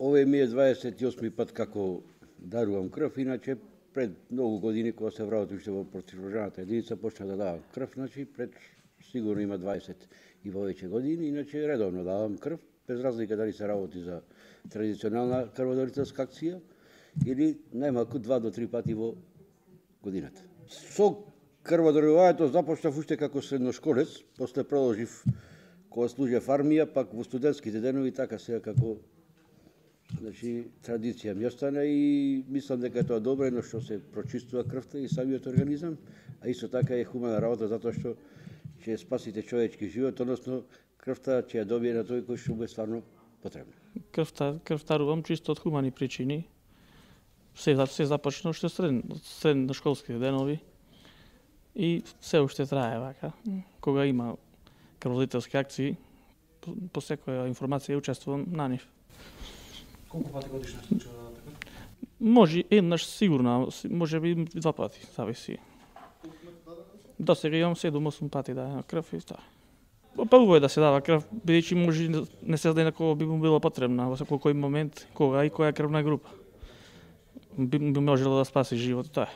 Овој ми е 28 пат како дарувам крв, иначе пред многу години кога се вработив уште во противожарната единица почнав да давам крв, значи пред сигурно има 20 и повеќе години, иначе редовно давам крв, без разлика дали се работи за традиционална крводарителска акција или најмалку 2 до 3 пати во годината. Со крводарувањето започнав уште како средношколец, после продолжив кога служев армија, пак во студентските денови, така сега како традиција ми остана и мислам дека е тоа добро, едно што се прочистува крвта и самиот организам, а исто така е хумана работа затоа што ќе спасите човечки живот, односно крвта ќе ја добие на тој кој што му е стварно потребна. Крвтарувам чисто од хумани причини. Се започна уште средношколските денови и се уште трае вака. Кога има крводарителски акции, по секоја информација учествувам на нив. Колку пати годишно се случува така? Може еднаш сигурно, може би 2 пати, зависи. До сега имам 7-8 пати дадена крв и тоа. Па убаво е да се дава крв, бидејќи може не се знае на кого би му било потребна во секој кој момент, кога и која крвна група. Би можело да спаси живот, тоа е.